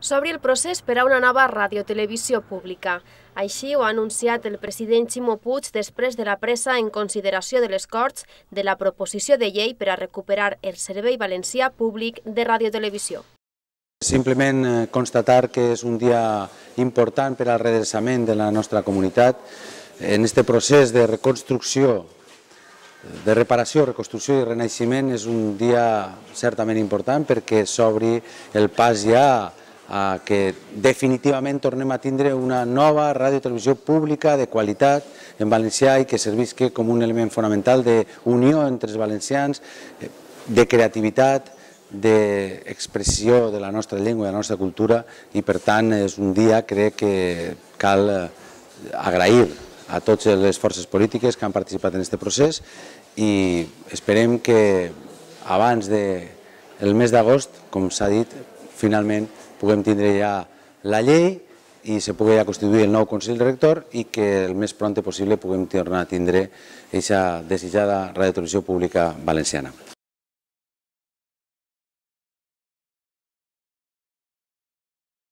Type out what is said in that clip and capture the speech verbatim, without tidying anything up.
S'obre el procés per a una nova radiotelevisió pública. Així ho ha anunciat el president Ximo Puig després de la presa en consideració de les Corts de la proposició de llei per a recuperar el servei valencià públic de radiotelevisió. Simplement constatar que és un dia important per al redreçament de la nostra comunitat. En aquest procés de reconstrucció, de reparació, reconstrucció i renaixement és un dia certament important perquè s'obri el pas ja a que definitivament tornem a tindre una nova radiotelevisió pública de qualitat en valencià i que servisca com un element fonamental d'unió entre els valencians, de creativitat, d'expressió de la nostra llengua i de la nostra cultura, i per tant és un dia, crec que cal agrair a totes les forces polítiques que han participat en aquest procés i esperem que abans del mes d'agost, com s'ha dit, finalment puguem tindre ja la llei i se pugui ja constituir el nou Consell Rector i que el més pront possible puguem tornar a tindre aquesta desitjada radiotelevisió pública valenciana.